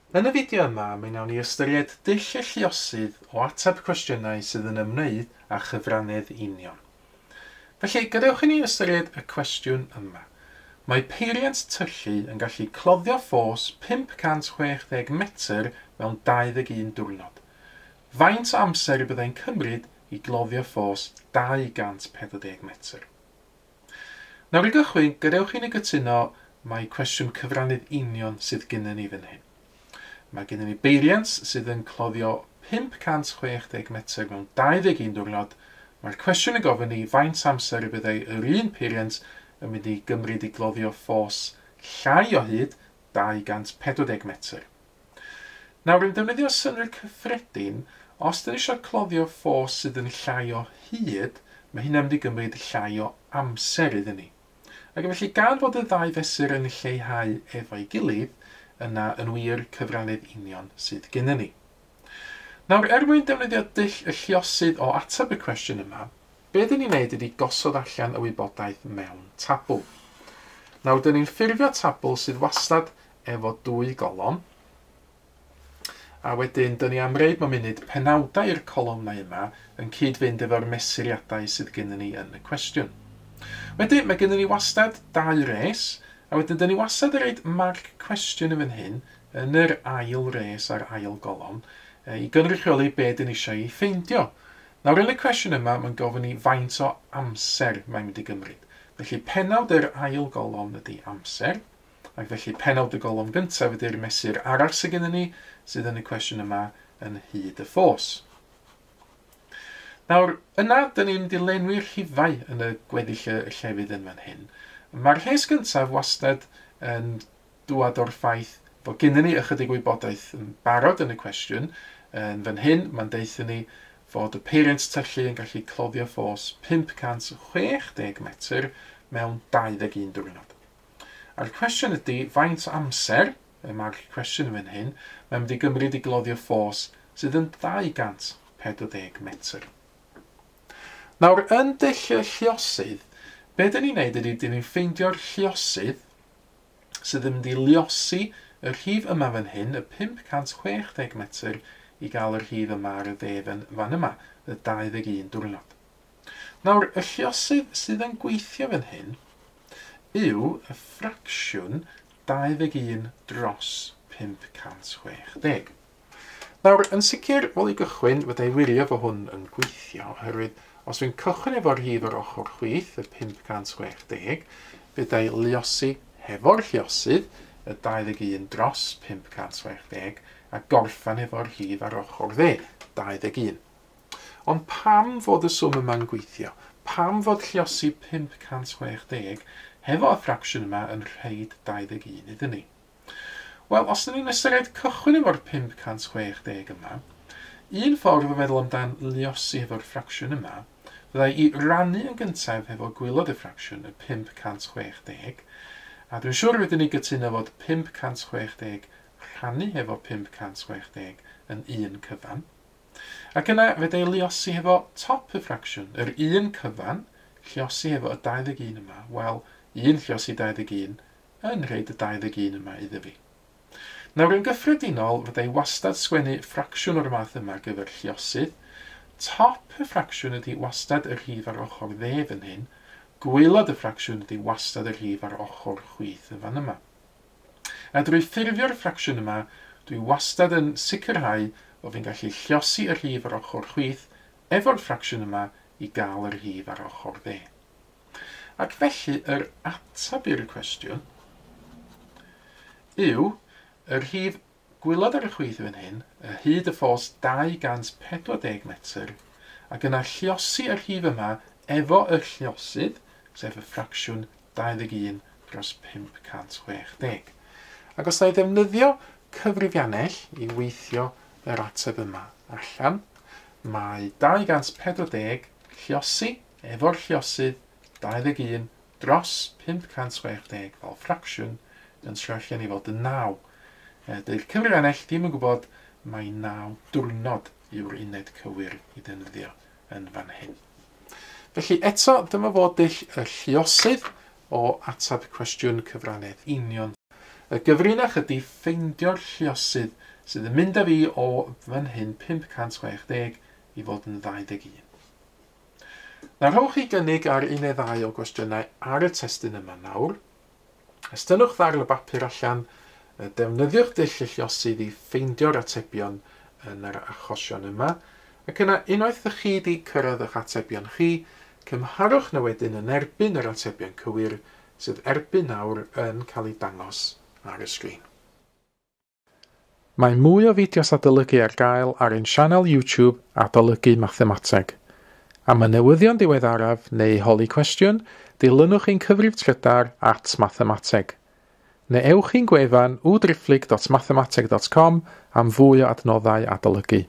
Yn y fideo yma, mi wnawn ni ystyried dull y lluosydd o ateb cwestiynau sydd yn ymwneud â chyfrannedd union. Felly, gadewch i ni ystyried y cwestiwn yma. Mae peiriant tyllu yn gallu cloddio ffos 560 metr mewn 21 diwrnod. Faint o amser y byddai'n cymryd i gloddio ffos 240 metr? Nawr i gychwyn, gadewch i ni gytuno mai cwestiwn cyfrannydd union sydd gennym ni fan hyn. Mae gennym ni beiriant sydd yn cloddio 560 metr mewn 21 diwrnod. Mae'r cwestiwn yn gofyn ni faint amser y byddai yr un peiriant yn mynd i gymryd i gloddio ffos llai o hyd 240 metr. Nawr, yn defnyddio synnwyr cyffredin, os dyn ni eisiau cloddio ffos sydd yn llai o hyd, mae hynna'n mynd i gymryd llai o amser iddyn ni. Ac felly, gan fod y ddau fesur yn lleihau efo'i gilydd, yna yn wir cyfrannydd union sydd gennym ni. Nawr, er mwyn defnyddio dull y lluosydd o ateb y cwestiwn yma, be dyn ni'n neud ydy gosod allan y wybodaeth mewn tabl. Nawr, dyn ni'n ffurfio tabl sydd wastad efo dwy golofn, a wedyn dyn ni am reid mewn munud penawdau i'r colofnau yma yn cyd-fynd efo'r mesuriadau sydd gennym ni yn y cwestiwn. Wedyn, mae gennym ni wastad dau res, a wedyn dyn ni wastad yn rhoid marc cwestiwn yn fan hyn, yn yr ail res a'r ail golofn, i gynrychioli be dyn ni eisiau ei ffeindio. Nawr, yn y cwestiwn yma, mae'n gofyn i faint o amser mae'n mynd i gymryd. Felly, pennawd yr ail golofn ydy amser, ac felly pennawd y golofn gyntaf ydy'r mesur arall sydd gennym ni, sydd yn y cwestiwn yma yn hyd y ffos. Nawr, yna, dyn ni'n mynd i lenwi'r rhifau yn y gweddill y llefydd yn fan hyn. Mae'r rhes gyntaf wastad yn dŵad o'r ffaith fod gennym ni ychydig wybodaeth yn barod yn y cwestiwn. Yn fan hyn, mae'n deutha ni fod y peiriant tyllu yn gallu cloddio ffos 560 metr mewn 21 diwrnod. A'r cwestiwn ydy, faint o amser, y marc cwestiwn yn fan hyn, mae'n mynd i gymryd i gloddio ffos sydd yn 240 metr. Nawr, yn dull y lluosydd, be dyn ni'n neud ydy, dyn ni'n ffeindio'r lluosydd sydd yn mynd i luosi y rhif yma fan hyn, y 560 metr, i gael y rhif yma ar y dde fan yma, y 21 diwrnod. Nawr, y lluosydd sydd yn gweithio fan hyn yw y ffracsiwn 21 dros 560. Nawr, yn sicr, wel i gychwyn, fydda i wirio fo hwn yn gweithio, oherwydd os dwi'n cychwyn efo'r rhif ar ochr chwith, y 560, fydda i luosi hefo'r lluosydd, y 21 dros 560, a gorffan efo'r rhif ar ochr dde, 21. Ond pam fod y swm yma'n gweithio? Pam fod lluosi 560 hefo y ffracsiwn yma yn rhaid 21 iddyn ni? Wel, os ydyn ni'n ystyried cychwyn efo'r 560 yma, un ffordd o feddwl amdan luosi efo'r ffracsiwn yma fyddai i rannu yn gyntaf hefo gwaelod y ffracsiwn, y 560, a dwi'n siŵr wedyn ni gytuno fod 560 rhannu hefo 560 yn un cyfan. Ac yna fedra i luosi hefo top y ffracsiwn, yr un cyfan, lluosi hefo y 21 yma, wel, 1 lluosi 21 yn rhaid y 21 yma iddo fi. Nawr, yn gyffredinol, fydda i wastad sgwennu ffracsiwn o'r math yma ar gyfer lluosydd. Top y ffracsiwn ydy wastad y rhif ar ochr dde fan hyn. Gwaelod y ffracsiwn ydy wastad y rhif ar ochr chwith yn fan yma. A drwy ffurfio'r ffracsiwn yma, dwi wastad yn sicrhau bod fi'n gallu lluosi y rhif ar ochr chwith efo'r ffracsiwn yma i gael y rhif ar ochr dde. Ac felly, yr ateb i'r cwestiwn yw y rhif gwaelod ar y chwith fan hyn, y hyd y ffos 240 metr, ac yna lluosi y rhif yma efo y lluosydd, sef y ffracsiwn 21 dros 560. Ac os na i ddefnyddio cyfrifiannell i weithio yr ateb yma allan, mae 240 lluosi efo'r lluosydd 21 dros 560 fel ffracsiwn yn troi allan i fod yn 9. Dydy'r cyfrifiannell ddim yn gwybod mai 9 diwrnod yw'r uned cywir i ddefnyddio yn fan hyn. Felly eto, dyma fod dull y lluosydd o ateb cwestiwn cyfrannedd union. Y gyfrinach ydy ffeindio'r lluosydd sydd yn mynd â fi o fan hyn 560 i fod yn 21. Nawr rhowch chi gynnig ar un neu ddau o gwestiynau ar y testun yma nawr. Estynnwch ddarn o bapur allan, defnyddiwch dull y lluosydd i ffeindio'r atebion yn yr achosion yma, ac yna unwaith ych chi wedi cyrraedd eich atebion chi, cymharwch nhw wedyn yn erbyn yr atebion cywir sydd erbyn nawr yn cael eu dangos ar y sgrin. Mae mwy o fideos adolygu ar gael ar ein sianel YouTube Adolygu Mathemateg. Am y newyddion diweddaraf neu holi cwestiwn, dilynwch ein cyfrif trydar @mathemateg. Neu ewch i'n gwefan www.mathemateg.com am fwy o adnoddau adolygu.